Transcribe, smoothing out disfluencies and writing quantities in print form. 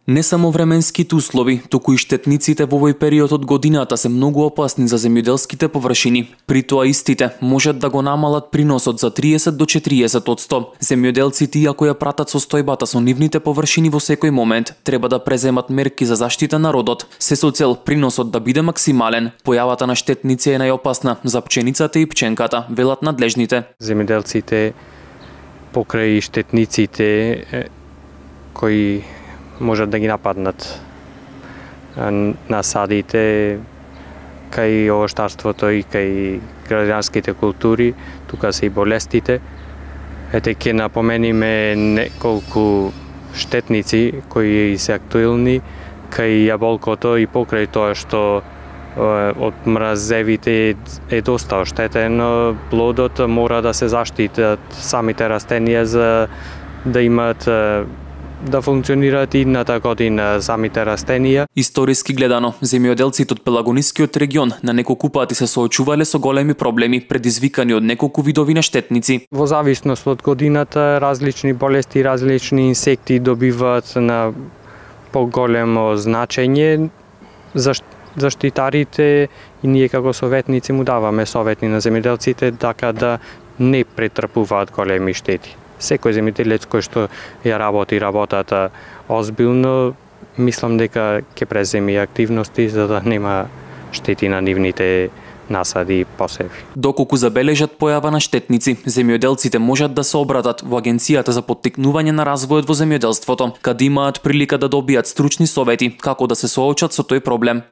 Не само временските услови, туку и штетниците во овој период од годината се многу опасни за земјоделските површини. При тоа истите можат да го намалат приносот за 30 до 40%. Земјоделците, иако ја пратат состојбата со нивните површини во секој момент, треба да преземат мерки за заштита на родот, се со цел приносот да биде максимален. Појавата на штетници е најопасна за пченицата и пченката, велат надлежните. Земјоделците покрај штетниците кои можат да ги нападнат насадите кај овоштарството и кај граѓанските култури, тука се и болестите. Ете ќе напомениме неколку штетници кои се актуелни кај јаболкото и покрај тоа што од мразевите е доста оштетен, плодот мора да се заштитат самите растенија за да имат да функционираат идната година самите растенија. Историски гледано, земјоделците од Пелагонискиот регион на неколку пати се соочувале со големи проблеми предизвикани од неколку видови на штетници. Во зависност од годината, различни болести, различни инсекти добиваат на поголемо значење. Заштитарите и ние како советници му даваме совети на земјоделците така да не претрпуваат големи штети. Секој земјоделец кој што ја работи работата озбилно, мислам дека ќе преземи активности за да нема штети на нивните насади и посеви. Доколку забележат појава на штетници, земјоделците можат да се обратат во Агенцијата за поттикнување на развојот во земјоделството, каде имаат прилика да добијат стручни совети како да се соочат со тој проблем.